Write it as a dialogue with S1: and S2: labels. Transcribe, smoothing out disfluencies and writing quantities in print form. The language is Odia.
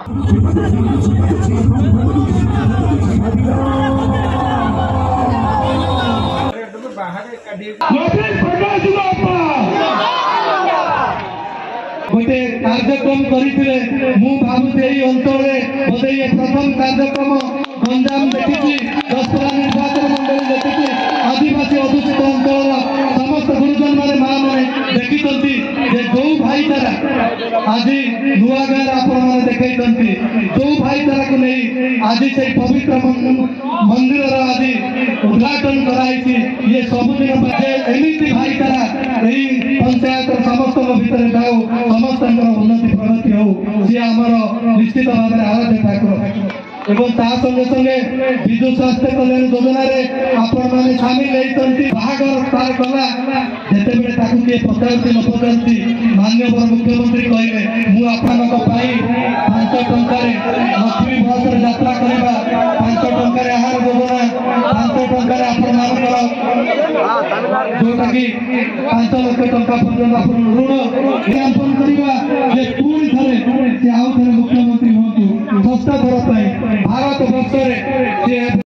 S1: ଗୋଟେ କାର୍ଯ୍ୟକ୍ରମ କରିଥିଲେ। ମୁଁ ଭାବୁଛି ଏଇ ଅଞ୍ଚଳରେ ବୋଧେ ଇଏ ପ୍ରଥମ କାର୍ଯ୍ୟକ୍ରମ ଗଞ୍ଜାମ ଦେଖିଛି, ଦଶପଲ୍ଲା ନିର୍ବାଚନ ମଣ୍ଡଳୀ ଦେଖିଛି, ଆଦିବାସୀ ଅଧ୍ୟୁଷିତ ଅଞ୍ଚଳର ସମସ୍ତ ଗୁରୁଜନ ମାନେ, ମା ମାନେ ଦେଖିଛନ୍ତି ଯେ ଯୋଉ ଭାଇଚାରା ଆଜି ନୂଆ ଗାଁରେ ଆପଣମାନେ ଦେଖେଇଛନ୍ତି, ଯୋଉ ଭାଇଚାରାକୁ ନେଇ ଆଜି ସେଇ ପବିତ୍ର ମନ୍ଦିରର ଆଜି ଉଦ୍ଘାଟନ କରାହେଇଛି, ଇଏ ସବୁଦିନ ପାଇଁ ଏମିତି ଭାଇଚାରା ଏଇ ପଞ୍ଚାୟତର ସମସ୍ତଙ୍କ ଭିତରେ ଯାଉ, ସମସ୍ତଙ୍କର ଉନ୍ନତି ପ୍ରଗତି ହଉ। ସିଏ ଆମର ନିଶ୍ଚିତ ଭାବରେ ଆରାଧ୍ୟ ଠାକୁର। ଏବଂ ତା ସଙ୍ଗେ ସଙ୍ଗେ ବିଜୁ ସ୍ୱାସ୍ଥ୍ୟ କଲ୍ୟାଣ ଯୋଜନାରେ ଆପଣମାନେ ସାମିଲ ହେଇଛନ୍ତି। ବାହାଘର ତାର କଲା ଯେତେବେଳେ ତାକୁ କିଏ ପଚାରୁଛି ନ ପଚାରୁଛି, ମାନ୍ୟବର ମୁଖ୍ୟମନ୍ତ୍ରୀ କହିଲେ ମୁଁ ଆପଣଙ୍କ ପାଇଁ 5 ଟଙ୍କାରେ ଲକ୍ଷ୍ମୀ ବସରେ ଯାତ୍ରା କରିବା, 5 ଟଙ୍କାରେ ଆହାର ଯୋଜନା, 5 ଟଙ୍କାରେ ଆପଣମାନଙ୍କର ଯୋଉଟା କି 5 ଲକ୍ଷ ଟଙ୍କା ପର୍ଯ୍ୟନ୍ତ ଆପଣ ଋଣ ଜ୍ଞାପନ କରିବା ଯେ ପୁଣି ଥରେ ସେ ଆଉ ଥରେ ମୁଖ୍ୟମନ୍ତ୍ରୀ ହୁଅନ୍ତୁ, ଷଷ୍ଠ ଥର ପାଇଁ ଭାରତ ବର୍ଷରେ ସେ।